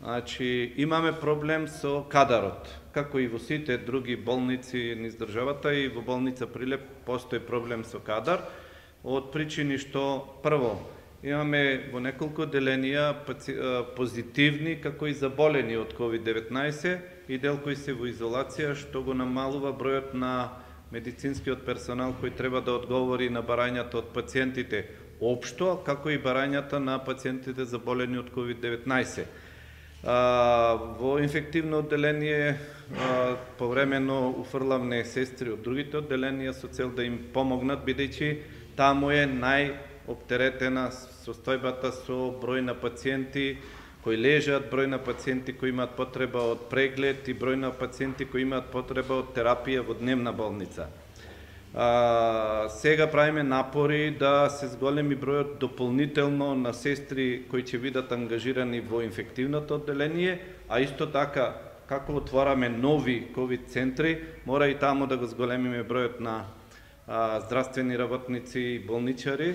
Значи, имаме проблем со кадарот, како и во сите други болници низ државата, и во болница Прилеп постои проблем со кадар, од причини што, прво, имаме во неколку отделенија позитивни, како и заболени од COVID-19 и дел кои се во изолација, што го намалува бројот на медицинскиот персонал кој треба да одговори на барањата од пациентите општо, како и барањата на пациентите заболени од COVID-19. Во инфективно одделение повремено уфрлавне сестри од другите одделенија со цел да им помогнат, бидејќи таму е најоптеретена состојбата со број на пациенти кои лежат, број на пациенти кои имаат потреба од преглед и број на пациенти кои имаат потреба од терапија во дневна болница. Сега правиме напори да се зголеми бројот дополнително на сестри кои ќе бидат ангажирани во инфективното одделение, а исто така, како отвораме нови ковид центри, мора и таму да го зголемиме бројот на здравствени работници и болничари.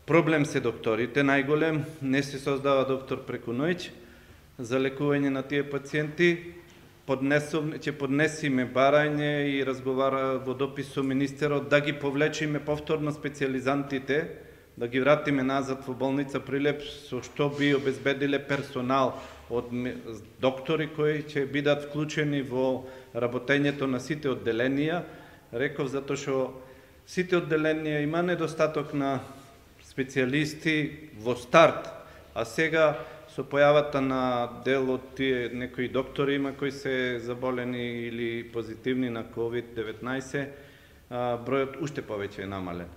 Проблем се докторите, најголем, не се создава доктор преку ноќ за лекување на тие пациенти. Ќе поднесиме барање и разговара во допис со министерот да ги повлечиме повторно специјализантите, да ги вратиме назад во болница Прилеп, со што би обезбедиле персонал од доктори кои ќе бидат вклучени во работењето на сите одделенија. Реков затоа што сите одделенија има недостаток на специјалисти во старт, а сега со појавата на дел од тие некои доктори има кои се заболени или позитивни на COVID-19, бројот уште повеќе е намален.